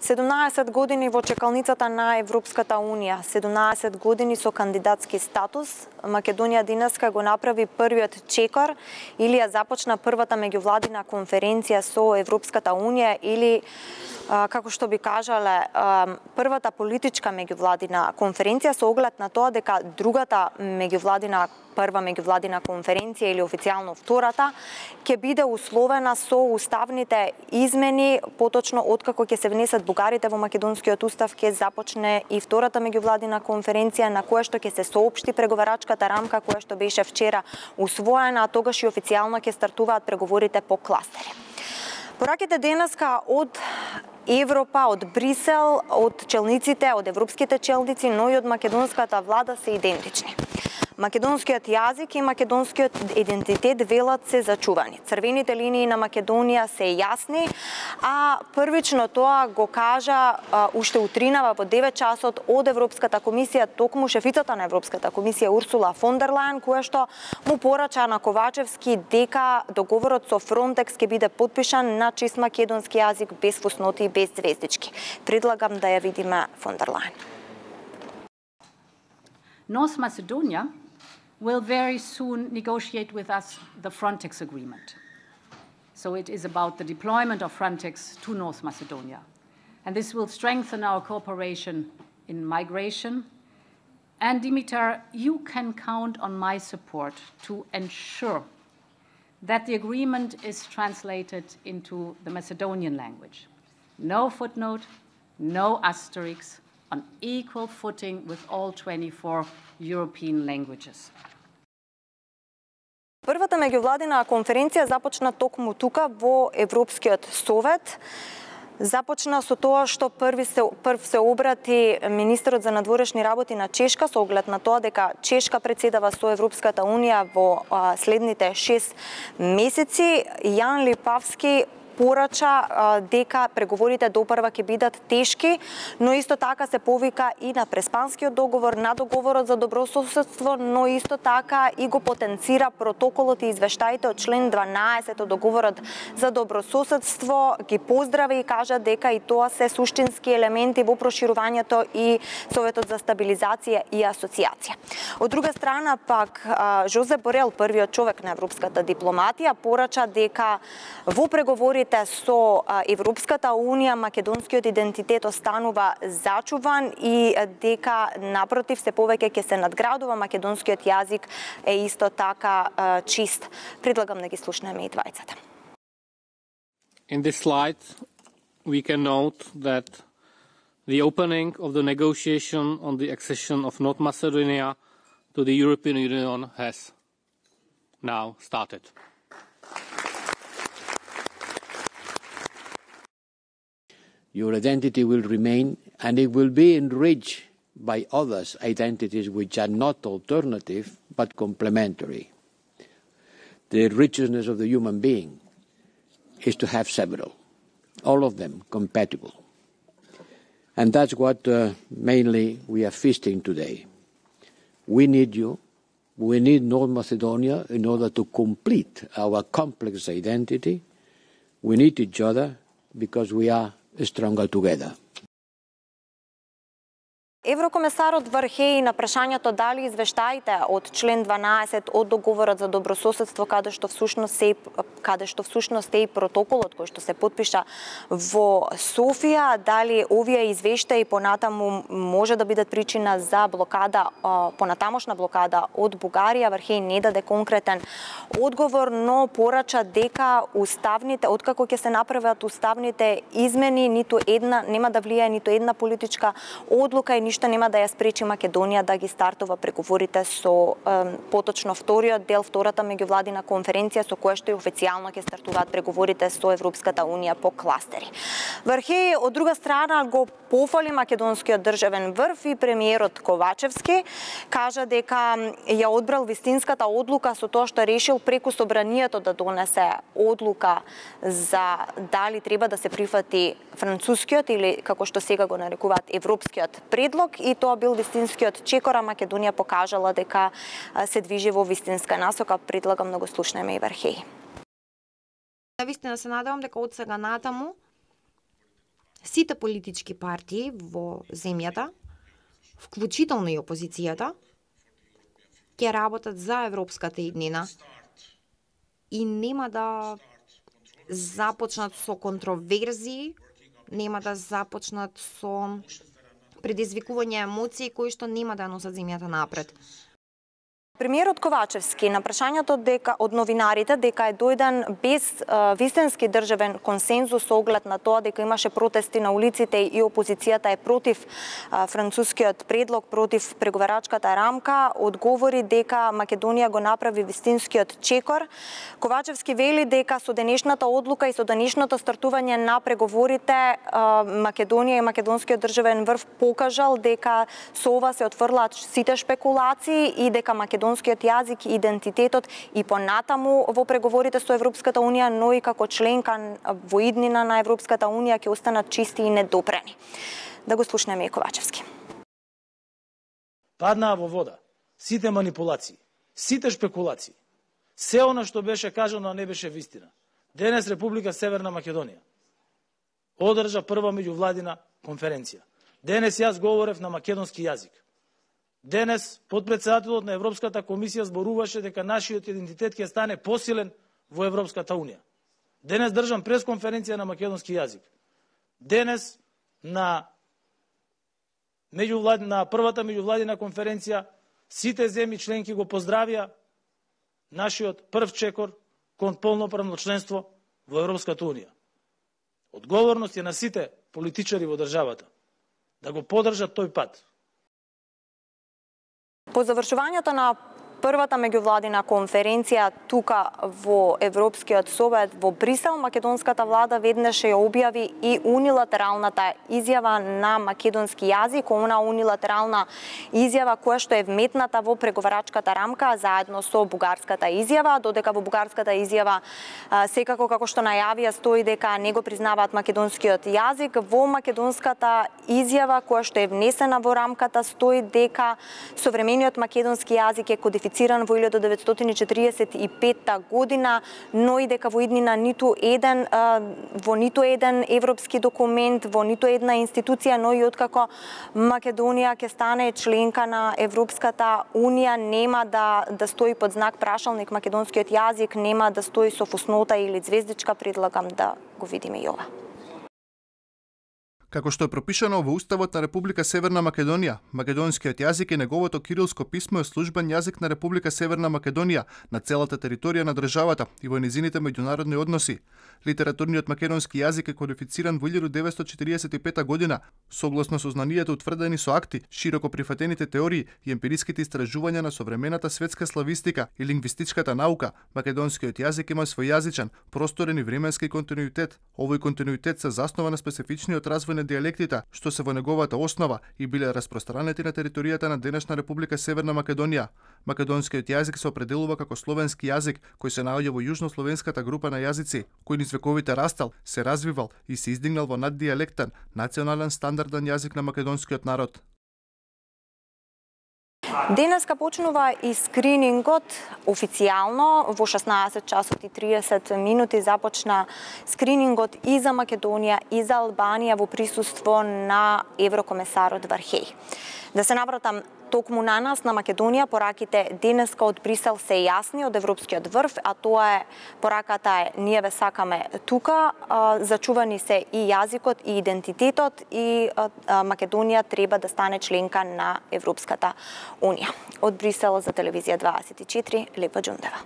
17 години во чекалницата на Европската Унија, 17 години со кандидатски статус, Македонија денеска го направи првиот чекор или ја започна првата меѓувладина конференција со Европската Унија или како што би кажале, првата политичка меѓувладина конференција со оглед на тоа дека другата прва меѓувладина конференција или официјално втората ќе биде условена со уставните измени, поточно откако ќе се внесат бугарите во македонскиот устав, ќе започне и втората меѓувладина конференција на која што ќе се соопшти преговарачката рамка која што беше вчера усвоена, а тогаш и официјално ќе стартуваат преговорите по кластери. Пораките денеска од Европа, од Брисел, од челниците, од европските челници, но и од македонската влада се идентични. Македонскиот јазик и македонскиот идентитет велат се зачувани. Црвените линии на Македонија се јасни, а првично тоа го кажа уште утринава во 9 часот од Европската комисија, токму шефицата на Европската комисија Урсула фон дер Лајен, која што му порача на Ковачевски дека договорот со Фронтекс ќе биде потпишан на чист македонски јазик, без фусноти и без звездички. Предлагам да ја видиме фон дер Лајен. North Macedonia will very soon negotiate with us the Frontex agreement. So it is about the deployment of Frontex to North Macedonia. And this will strengthen our cooperation in migration. And Dimitar, you can count on my support to ensure that the agreement is translated into the Macedonian language. No footnote, no asterisks, on equal footing with all 24 European languages. Првата меѓувладина конференција започна токму тука во Европскиот совет. Започна со тоа што прв се обрати министерот за надворешни работи на Чешка со оглед на тоа дека Чешка председава со Европската Унија во следните 6 месеци. Јан Липавски порача дека преговорите допрва ќе бидат тешки, но исто така се повика и на Преспанскиот договор, на договорот за добрососедство, но исто така и го потенцира протоколот и извештаите од член 12 од договорот за добрососедство, ги поздрави и кажа дека и тоа се суштински елементи во проширувањето и Советот за стабилизација и асоциација. Од друга страна пак Жозеп Борел, првиот човек на европската дипломатија, порача дека во преговори со Европската Унија македонскиот идентитет останува зачуван и дека напротив се повеќе ќе се надградува, македонскиот јазик е исто така чист. Предлагам да ги слушнеме и двајцата. In this slide we can note that the opening of the negotiation on the accession of North Macedonia to the European Union has now started. Your identity will remain, and it will be enriched by others' identities which are not alternative but complementary. The richness of the human being is to have several, all of them compatible. And that's what mainly we are feasting today. We need you. We need North Macedonia in order to complete our complex identity. We need each other because we are stronger together. Еврокомесарот Вархеи на прашањето дали извештаите од член 12 од договорот за добрососедство каде што всушност е и протоколот кој што се потпиша во Софија, дали овие извештаи понатаму може да бидат причина за блокада, понатамошна блокада од Бугарија. Вархеи не даде конкретен одговор, но порача дека уставните, откако ќе се направат уставните измени, ниту една нема да влијае ниту една политичка одлука и ништо нема да ја спречи Македонија да ги стартува преговорите со поточно вториот дел, втората меѓувладина конференција со која што и официјално ќе стартуваат преговорите со Европската Унија по кластери. Вархеи од друга страна го пофали македонскиот државен врв и премиерот Ковачевски, кажа дека ја одбрал вистинската одлука со тоа што решил преку собранието да донесе одлука за дали треба да се прифати францускиот или како што сега го нарекуваат европскиот предлог, и тоа бил вистинскиот чекор, а Македонија покажала дека се движи во вистинска насока. Предлагам да го слушнеме и Вархеи. Вистина се надевам дека од сега натаму сите политички партии во земјата, вклучително и опозицијата, ќе работат за европската иднина и нема да започнат со контроверзии, нема да започнат со предизвикување емоции кои што нема да носат земјата напред. Премиерот Ковачевски на прашањето од новинарите дека е дојден без вистински државен консензус со оглед на тоа дека имаше протести на улиците и опозицијата е против францускиот предлог, против преговарачката рамка, одговори дека Македонија го направи вистинскиот чекор. Ковачевски вели дека со денешната одлука и со денешното стартување на преговорите Македонија и македонскиот државен врв покажал дека со ова се отфрлаат сите шпекулации и дека македонскиот јазик и идентитетот и понатаму во преговорите со Европската Унија, но и како членка во иднина на Европската Унија ќе останат чисти и недопрени. Да го слушнеме и Ковачевски. Паднаа во вода сите манипулации, сите шпекулации, се она што беше кажано, а не беше вистина. Денес Република Северна Македонија одржа прва меѓувладина конференција. Денес јас говорев на македонски јазик. Денес подпредседателот на Европската комисија зборуваше дека нашиот идентитет ќе стане посилен во Европската Унија. Денес држам пресконференција на македонски јазик. Денес на првата меѓувладина конференција сите земји членки го поздравија нашиот прв чекор кон полноправно членство во Европската Унија. Одговорност е на сите политичари во државата да го поддржат тој пат. По завршувањето на првата меѓувладина конференција тука во Европскиот совет во Брисел, македонската влада веднаш ја објави и унилатералната изјава на македонски јазик, она унилатерална изјава која што е вметната во преговарачката рамка заедно со бугарската изјава, додека во бугарската изјава секако како што најавија стои дека не го признаваат македонскиот јазик, во македонската изјава која што е внесена во рамката стои дека современиот македонски јазик е кодифициран во 1945 година, но и дека во иднина во ниту еден европски документ, во ниту една институција, но и откако Македонија ќе стане членка на Европската Унија, нема да стои под знак прашалник македонскиот јазик, нема да стои со фуснота или звездичка, предлагам да го видиме и ова. Како што е пропишано во Уставот на Република Северна Македонија, македонскиот јазик и неговото кирилско писмо е службен јазик на Република Северна Македонија на целата територија на државата и во незините меѓународни односи. Литературниот македонски јазик е кодифициран во 1945 година, согласно сознанието утврдени со акти, широко прифатените теории и емпириските истражувања на современата светска славистика и лингвистичката наука. Македонскиот јазик има свој јазичен, просторен и временски континуитет. Овој континуитет се заснова на специфичниот развој на диалектите, што се во неговата основа и биле распространети на територијата на денешна Република Северна Македонија. Македонскиот јазик се определува како словенски јазик, кој се наоѓа во јужнословенската група на јазици, кој низ вековите растал, се развивал и се издигнал во наддиалектен, национален стандарден јазик на македонскиот народ. Денеска почнува и скринингот официјално во 16 часот и 30 минути започна скринингот и за Македонија и за Албанија во присуство на еврокомесарот Вархеј. Да се навратам токму на нас, на Македонија, пораките денеска од Брисел се јасни од Европскиот врв, а тоа е пораката е ние ве сакаме тука, зачувани се и јазикот и идентитетот и Македонија треба да стане членка на Европската Унија. Од Брисел за телевизија 24, Лепа Џундева.